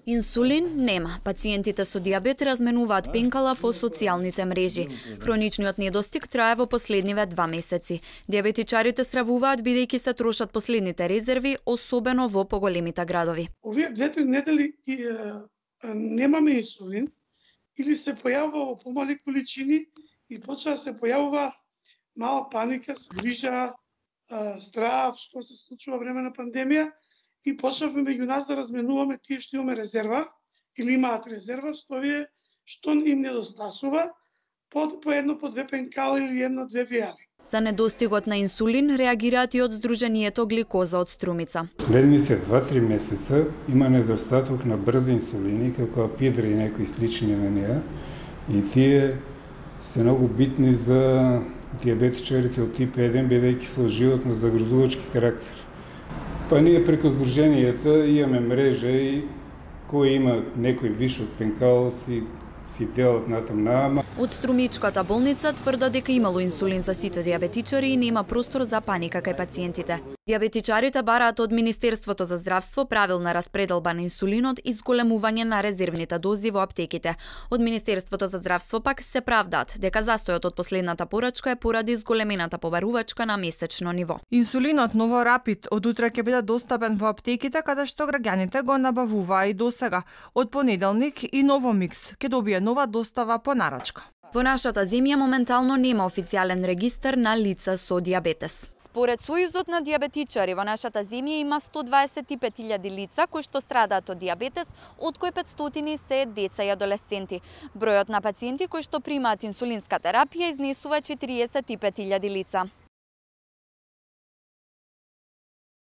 Инсулин нема. Пациентите со дијабет разменуваат пенкала по социјалните мрежи. Хроничниот недостиг трае во последниве 2 месеци. Дијабетичарите сравуваат бидејќи се трошат последните резерви, особено во поголемите градови. Овие 2-3 недели немаме инсулин или се појавува во помали количини и почва да се појавува мала паника, грижа, страв, што се случува време на пандемија. И почнавме меѓу нас да разменуваме тие што имаме резерва или имаат резерва, што им недостасува, по едно, по 2 пенкала или 1-2 вијали. За недостигот на инсулин реагираат и од Сдруженијето Гликоза од Струмица. Следните 2-3 месеца има недостаток на брзи инсулини, како апидра и некои слични на неа, и тие се многу битни за дијабетичарите од тип 1, бидејќи со животно загрозувачки карактер. Па ние преку Сдруженијата имаме мрежа и кој има некој виш од пенкал си делат натам наама. Од Струмичката болница тврдат дека имало инсулин за сите дијабетичари и нема простор за паника кај пациентите. Дијабетичарите бараат од Министерството за здравство правилна распределба на инсулинот и зголемување на резервните дози во аптеките. Од Министерството за здравство пак се правдаат дека застојот од последната порачка е поради зголемената побарувачка на месечно ниво. Инсулинот Новорапид од утре ќе биде достапен во аптеките каде што граѓаните го набавуваа и досега. Од понеделник и Новомикс ќе добие нова достава по нарачка. Во нашата земја моментално нема официјален регистар на лица со дијабетес. Според Сојузот на дијабетичари во нашата земја има 125.000 лица кои што страдаат од дијабетес, од кои 500 се деца и адолесценти. Бројот на пациенти кои што примаат инсулинска терапија изнесува 45.000 лица.